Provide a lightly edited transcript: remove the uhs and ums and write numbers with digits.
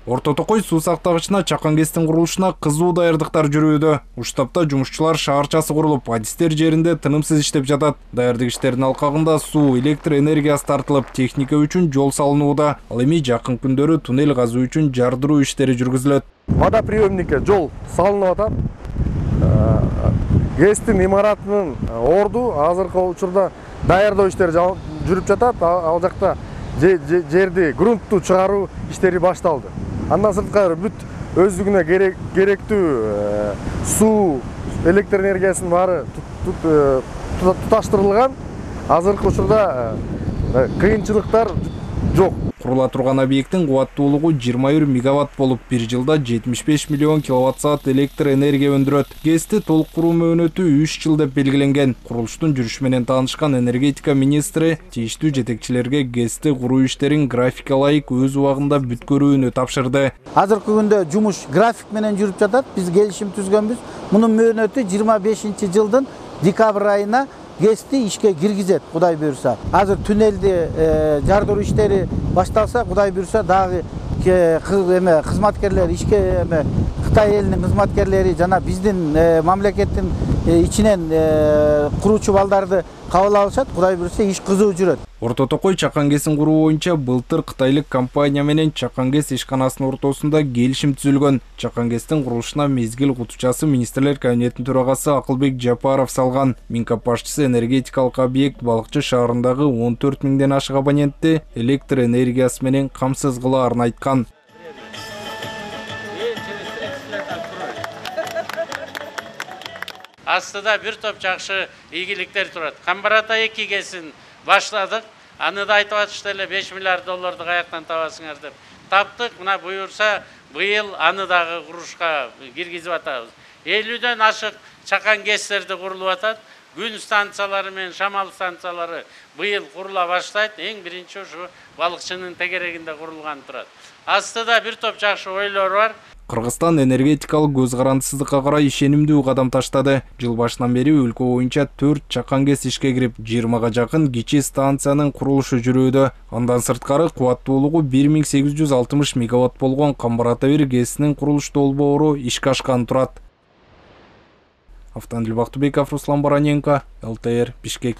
Орто Токой суу сактагычына Чакан ГЭСтин курулушуна кызуу даярдыктар жүрүүдө. Уштапта жумушчулар шаарчасы курулуп, адистер жеринде тынымсыз иштеп жатат. Даярдык иштеринин алкагында суу, электр энергиясы тартылып, техника үчүн жол салынууда. Ал эми жакын күндөрү туннель казуу үчүн жардыруу иштери жүргүзүлөт. Водоприемникке жол салынып атат. ГЭСтин имаратынын орду азыркы учурда даярдоо иштери жүрүп жатат. Ал жакта жерди грунтту чыгаруу иштери башталды. Андан сырткары бүт өздүгүнө керектүү суу, электр энергиясынын баары туташтырылган. Азыркы учурда кыйынчылыктар жок. Курула турган объекттин кубаттуулугу 21 мегаватт болуп, бир жылда 75 миллион киловатт-саат электр энергия өндүрөт. ГЭСти толук куруу мөөнөтү 3 жыл деп белгиленген. Курулуштун жүрүшү менен таанышкан энергетика министри тийиштүү жетекчилерге ГЭСти куруу иштерин графикке ылайык өз убагында бүткөрүүнү тапшырды. Азыркы күндө жумуш график менен жүрүп жатат. Биз келишим түзгөнбүз. Мунун мөөнөтү 25-жылдын декабрь айына ГЭСти ишке киргизет, Кудай буйрса. Азыр туннелди жардыруу иштери башталса, Кудай буйрса дагы кызматкерлер ишке Кытай элинин кызматкерлери жана биздин мамлекеттин ичинен куруучу балдарды кабыл алышат. Кудай буйрса иш кызуу жүрөт. Орто Токой Чакан ГЭСин куруу боюнча былтыр кытайлык компания менен Чакан ГЭС ишканасынын ортосунда келишим түзүлгөн. Чакан ГЭСтин курулушуна мезгил кутучасы министрлер кабинетинин төрагасы Акылбек Жапаров салган. Минкап башчысы энергетикалык объект Балыкчы шаарындагы 14 миңден ашык абонентти электр энергиясы менен камсыз кылаарын айткан. Астыда бир топ жакшы ийгиликтер турат. Камбарата 2 ГЭСин башладык. Аны да айтып атышты эле 5 миллиард долларду каяктан табасыңар деп. Таптык, мына буюрса быйыл аны дагы курушка киргизип атабыз. 50дөн ашык Чакан ГЭСтерди курулуп атат. Күн станциялары менен шамал станциялары быйыл курула баштайт. Эң биринчи ушу Балыкчынын тегерегинде курулган турат. Астыда бир топ жакшы ойлор бар. Кыргызстан энергетикалык көз карандысыздыкка карай ишенимдүү кадам таштады. Жыл башынан бери өлкө боюнча 4 Чакан ГЭС ишке кирип, 20га жакын кичи станциянын курулушу жүрүүдө. Андан сырткары кубаттуулугу 1860 мегаватт болгон Камбарата 1 ГЭСинин курулуш долбоору ишке ашкан турат. Автандил Бактыбеков, Руслан Бараненко, ЛТР, Бишкек.